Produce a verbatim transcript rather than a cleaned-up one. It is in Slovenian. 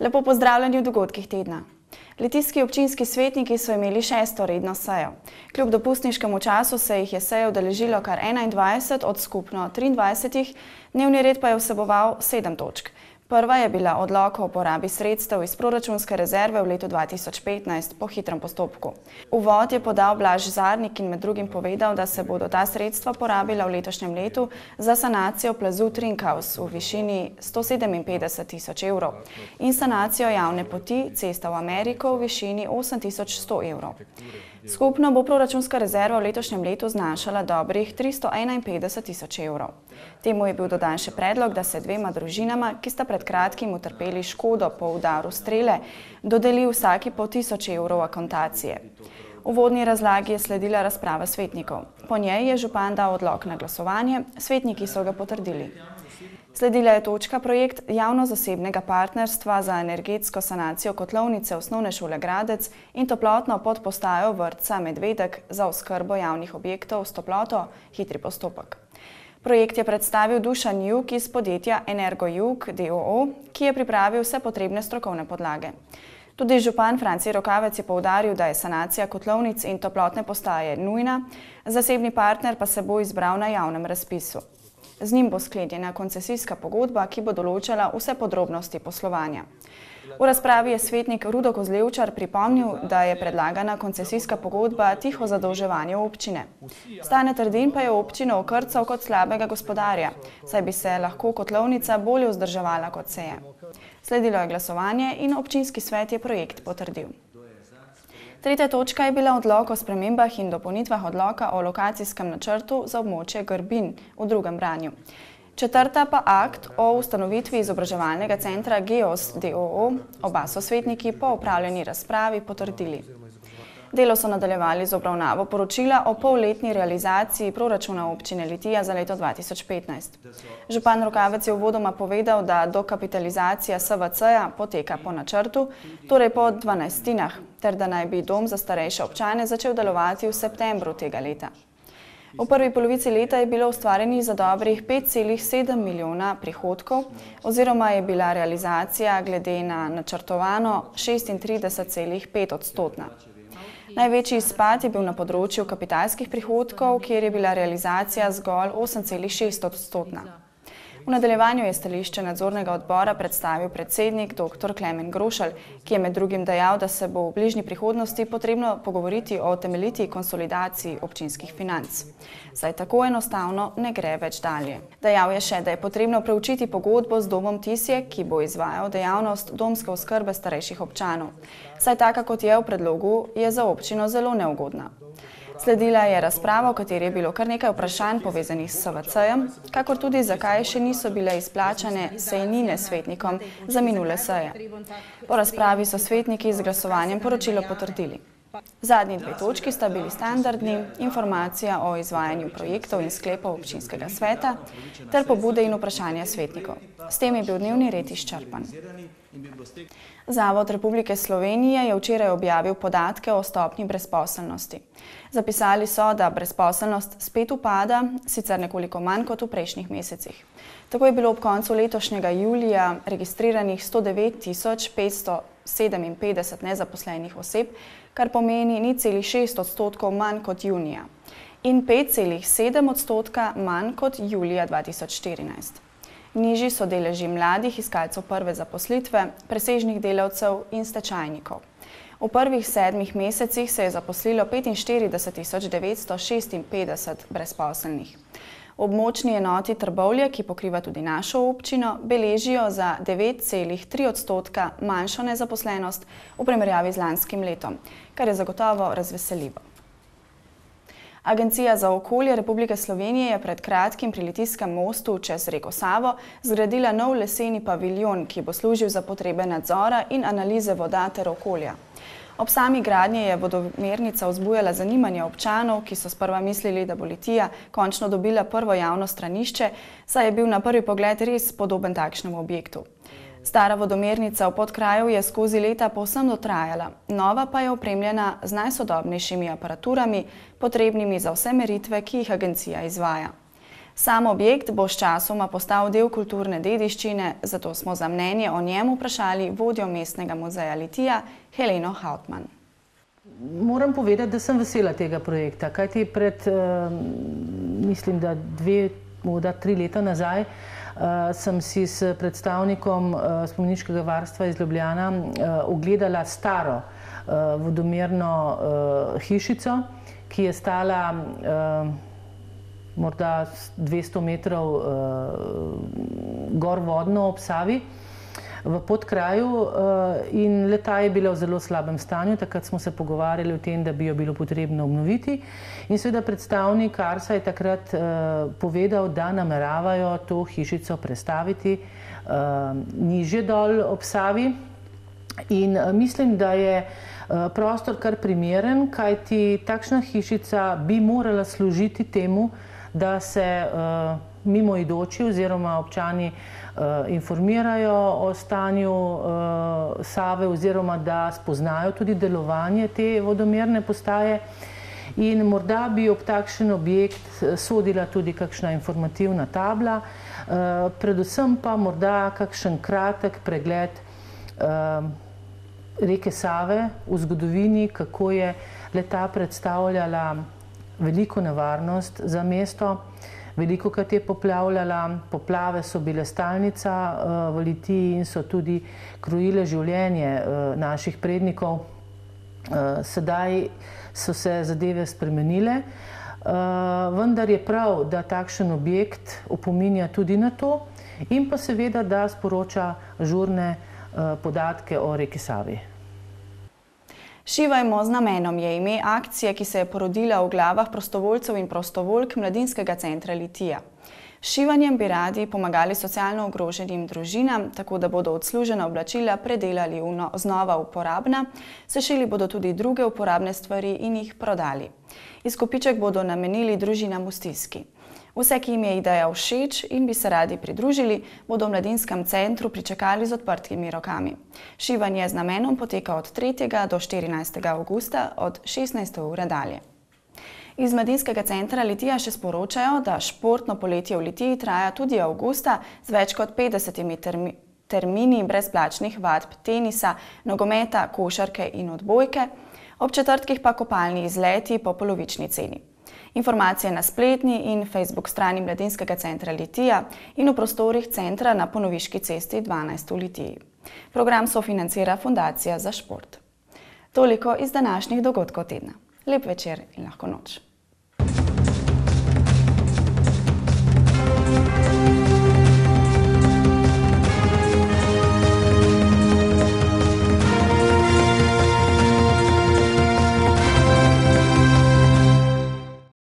Lepo pozdravljeni v dogodkih tedna. Litijski občinski svetniki so imeli šesto redno sejo. Kljub dopustniškemu času se jih je seje udeležilo kar enaindvajset od skupno triindvajsetih, dnevni red pa je vseboval sedem točk. Prva je bila odlok o porabi sredstev iz proračunske rezerve v letu dva tisoč petnajst po hitrem postopku. Uvod je podal Blaž Zarnik in med drugim povedal, da se bodo ta sredstva porabila v letošnjem letu za sanacijo plazu Trinkhaus v višini sto sedeminpetdeset tisoč evrov in sanacijo javne poti Cesta v Ameriko v višini osem tisoč sto evrov. Skupno bo proračunska rezerva v letošnjem letu znašala dobrih tristo enainpetdeset tisoč evrov. Temu je bil dodan še predlog, da se dvema družinama, ki sta pred kratkim utrpeli škodo po udaru strele, dodeli vsaki po tisoč evrov akontacije. V uvodni razlagi je sledila razprava svetnikov. Po njej je župan dal odlok na glasovanje, svetniki so ga potrdili. Sledila je točka projekt javno-zasebnega partnerstva za energetsko sanacijo kotlovnice osnovne šole Gradec in toplotno podpostajo vrtca Medvedek za oskrbo javnih objektov s toploto hitri postopek. Projekt je predstavil Dušan Jug iz podjetja Energo Jug d o o, ki je pripravil vse potrebne strokovne podlage. Tudi župan Franci Rokavec je poudaril, da je sanacija kotlovnic in toplotne postaje nujna, zasebni partner pa se bo izbral na javnem razpisu. Z njim bo sklenjena koncesijska pogodba, ki bo določala vse podrobnosti poslovanja. V razpravi je svetnik Rudo Kozlevčar pripomnil, da je predlagana koncesijska pogodba tiho zadolževanje občine. Stane Trdin pa je občino okrcal kot slabega gospodarja, saj bi se lahko kotlovnica bolje vzdrževala kot se je. Sledilo je glasovanje in občinski svet je projekt potrdil. Tretja točka je bila odlok o spremembah in dopolnitvah odloka o lokacijskem načrtu za območje Grbin v drugem branju. Četrta pa akt o ustanovitvi izobraževalnega centra Geos d o o, oba so svetniki po opravljeni razpravi potrdili. Delo so nadaljevali z obravnavo poročila o polletni realizaciji proračuna občine Litija za leto dva tisoč petnajst. Župan Rokavec je uvodoma povedal, da dokapitalizacija S V C-ja poteka po načrtu, torej po dvanajstinah, ter da naj bi dom za starejše občane začel delovati v septembru tega leta. V prvi polovici leta je bilo ustvarjenih za dobrih pet celih sedem milijona prihodkov oziroma je bila realizacija glede na načrtovano šestintrideset celih pet odstotna. Največji izpad je bil na področju kapitalskih prihodkov, kjer je bila realizacija zgolj osem celih šest odstotna. V nadaljevanju je stališče nadzornega odbora predstavil predsednik doktor Klemen Grošelj, ki je med drugim dejal, da se bo v bližnji prihodnosti potrebno pogovoriti o temeljiti konsolidaciji občinskih financ. Saj tako enostavno ne gre več dalje. Dejal je še, da je potrebno preučiti pogodbo z domom Tisje, ki bo izvajal dejavnost domske oskrbe starejših občanov. Saj taka, kot je v predlogu, je za občino zelo neugodna. Sledila je razprava, v kateri je bilo kar nekaj vprašanj povezanih s S V C-jem, kakor tudi zakaj še niso bile izplačane sejnine svetnikom za minule seje. Po razpravi so svetniki z glasovanjem poročilo potrdili. Zadnji dve točki sta bili standardni, informacija o izvajanju projektov in sklepov občinskega sveta ter pobude in vprašanja svetnikov. S tem je bil dnevni red izčrpan. Zavod Republike Slovenije je včeraj objavil podatke o stopnji brezposelnosti. Zapisali so, da brezposelnost spet upada, sicer nekoliko manj kot v prejšnjih mesecih. Tako je bilo ob koncu letošnjega julija registriranih sto devet tisoč petsto sedeminpetdeset nezaposlenih oseb, kar pomeni nič celih šest odstotkov manj kot junija in pet celih sedem odstotka manj kot julija dva tisoč štirinajst. Nižji so deleži mladih iskalcev prve zaposlitve, presežnih delavcev in stečajnikov. V prvih sedmih mesecih se je zaposlilo petinštirideset tisoč devetsto šestinpetdeset brezposelnih. V območni enoti Trbovlje, ki pokriva tudi našo občino, beležijo za devet celih tri odstotka manjšo nezaposlenost v primerjavi z lanskim letom, kar je zagotovo razveseljivo. Agencija za okolje Republike Slovenije je pred kratkim pri Litijskem mostu čez reko Savo zgradila nov leseni paviljon, ki bo služil za potrebe nadzora in analize voda ter okolja. Ob sami gradnji je vodomernica vzbujala zanimanje občanov, ki so sprva mislili, da bo Litija končno dobila prvo javno stranišče, saj je bil na prvi pogled res podoben takšnemu objektu. Stara vodomernica v Podkraju je skozi leta povsem dotrajala, nova pa je opremljena z najsodobnejšimi aparaturami, potrebnimi za vse meritve, ki jih agencija izvaja. Sam objekt bo sčasoma postal del kulturne dediščine, zato smo za mnenje o njem vprašali vodjo Mestnega muzeja Litija Heleno Hautmann. Moram povedati, da sem vesela tega projekta, kajti pred, mislim, da dve, morda tri leta nazaj, sem si s predstavnikom spomeniškega varstva iz Ljubljana ogledala staro vodomerno hišico, ki je stala morda dvesto metrov gor vodno ob Savi v podkraju in le-ta je bila v zelo slabem stanju. Takrat smo se pogovarjali o tem, da bi jo bilo potrebno obnoviti in seveda predstavnik Arsa je takrat povedal, da nameravajo to hišico prestaviti nižje dol ob Savi in mislim, da je prostor kar primeren, kajti takšna hišica bi morala služiti temu, da se mimoidoči oziroma občani informirajo o stanju Save oziroma da spoznajo tudi delovanje te vodomerne postaje in morda bi ob takšen objekt sodila tudi kakšna informativna tabla, predvsem pa morda kakšen kratek pregled reke Save v zgodovini, kako je le-ta predstavljala veliko nevarnost za mesto. Velikokrat je poplavljala, poplave so bile stalnica v Litiji in so tudi krojile življenje naših prednikov. Sedaj so se zadeve spremenile, vendar je prav, da takšen objekt opominja tudi na to in pa seveda, da sporoča žurne podatke o reki Savi. Šivajmo z namenom je ime akcije, ki se je porodila v glavah prostovoljcev in prostovoljk Mladinskega centra Litija. S šivanjem bi radi pomagali socialno ogroženim družinam, tako da bodo odslužena oblačila predelali v znova uporabna, sešili bodo tudi druge uporabne stvari in jih prodali. Izkupiček bodo namenili družinam v stiski. Vse, ki jim je ideja všeč in bi se radi pridružili, bodo v Mladinskem centru pričakali z odprtimi rokami. Šivanje z namenom poteka od tretjega do štirinajstega avgusta od šestnajste ure dalje. Iz Mladinskega centra Litija še sporočajo, da športno poletje v Litiji traja tudi avgusta z več kot petdesetimi termi termini brezplačnih vadb tenisa, nogometa, košarke in odbojke, ob četrtkih pa kopalni izleti po polovični ceni. Informacije na spletni in Facebook strani Mladinskega centra Litija in v prostorih centra na Ponoviški cesti dvanajst v Litiji. Program sofinancira Fundacija za šport. Toliko iz današnjih dogodkov tedna. Lep večer in lahko noč.